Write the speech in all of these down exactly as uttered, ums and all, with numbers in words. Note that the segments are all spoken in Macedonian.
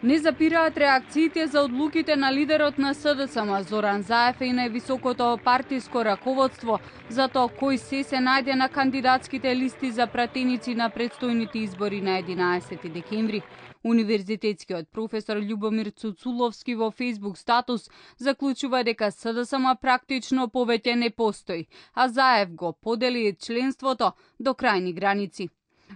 Не запираат реакциите за одлуките на лидерот на СДСМ Зоран Заев и највисокото партиско раководство за тоа кој се се најде на кандидатските листи за пратеници на предстојните избори на единаесети декември. Универзитетскиот професор Љубомир Цуцуловски во Facebook статус заклучува дека СДСМ практично повеќе не постои, а Заев го подели членството до крајни граници.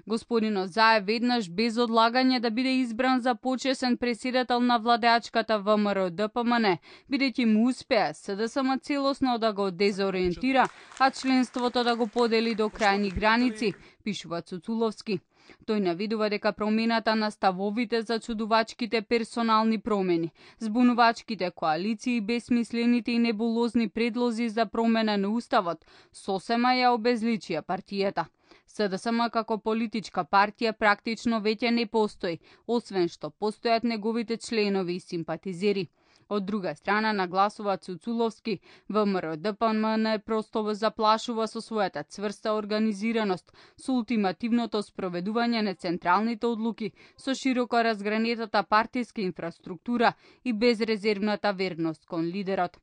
Господинот Заев веднаш без одлагање да биде избран за почесен претседател на владеачката ВМРО Д П М Н, бидејќи му успеа СДСМ целосно да го дезориентира, а членството да го подели до крајни граници, пишува Цуцуловски. Тој наведува дека промената на ставовите за чудувачките персонални промени, збунувачките коалиции и бесмислените и небулозни предлози за промена на уставот сосема ја обезличија партијата. СДСМ како политичка партија практично веќе не постои, освен што постојат неговите членови и симпатизери. Од друга страна, нагласува Цуцуловски, ВМРО Д П М Н просто заплашува со својата цврста организираност, со ултимативното спроведување на централните одлуки, со широко разгранетата партиска инфраструктура и безрезервната верност кон лидерот.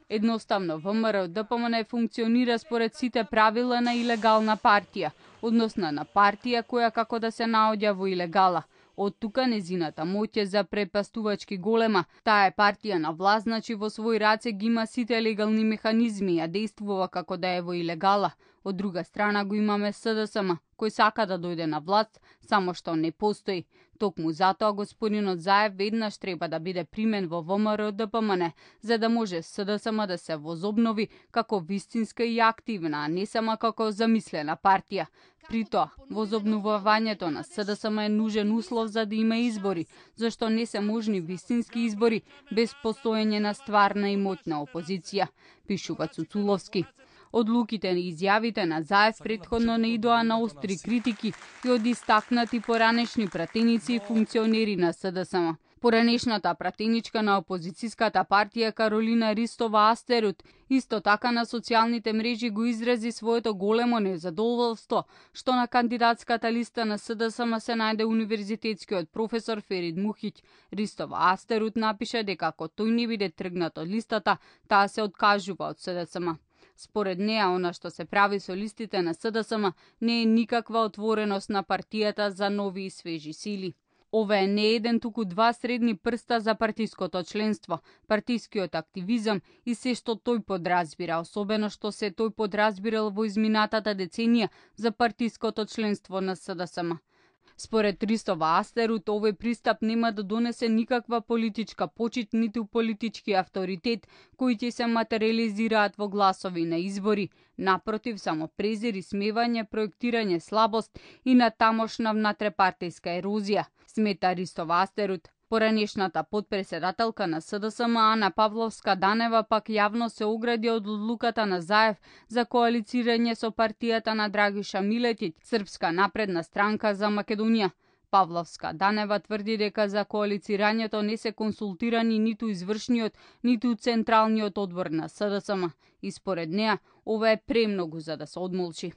Едноставно, ВМРО Д П М Н функционира според сите правила на илегална партија, односно на партија која како да се наоѓа во илегала. Од тука незината моќ е за препастувачки голема. Таа е партија на власт, значи во свој раце ги има сите легални механизми, а действува како да е во илегала. Од друга страна го имаме СДСМ, кој сака да дојде на власт, само што не постои. Токму затоа господинот Заев веднаш треба да биде примен во ВМРО Д П М Н, за да може СДСМ да се возобнови како вистинска и активна, а не само како замислена партија. При тоа, возобновувањето на СДСМ е нужен услов за да има избори, зашто не се можни вистински избори без постоење на стварна и моќна опозиција, пишува Цуцуловски. Одлуките и изјавите на Заев претходно не идоа на остри критики и од истакнати поранешни пратеници и функционери на СДСМ. Поранешната пратеничка на опозицијската партија Каролина Ристова Астерут исто така на социјалните мрежи го изрази своето големо незадоволство што на кандидатската листа на СДСМ се најде универзитетскиот професор Ферид Мухиќ. Ристова Астерут напише дека ако тој не биде тргнат од листата, таа се откажува од СДСМ. Според неа, она што се прави со листите на СДСМ не е никаква отвореност на партијата за нови и свежи сили. Ова е не еден, туку два средни прста за партиското членство, партискиот активизам и се што тој подразбира, особено што се тој подразбирал во изминатата деценија за партиското членство на СДСМ. Според Ристова Астерут, овој пристап нема да донесе никаква политичка почит, ниту политички авторитет, кои ќе се материализираат во гласови на избори. Напротив, само презир и смевање, проектирање слабост и на тамошна внатрепартиска ерозија, смета Ристова Астерут. Поранешната подпредседателка на СДСМ Ана Павловска-Данева пак јавно се огради од одлуката на Заев за коалицирање со партијата на Драгиша Милетиќ, Српска напредна странка за Македонија. Павловска-Данева тврди дека за коалицирањето не се консултирани ниту извршниот, ниту централниот одбор на СДСМ и според неа ова е премногу за да се одмолчи.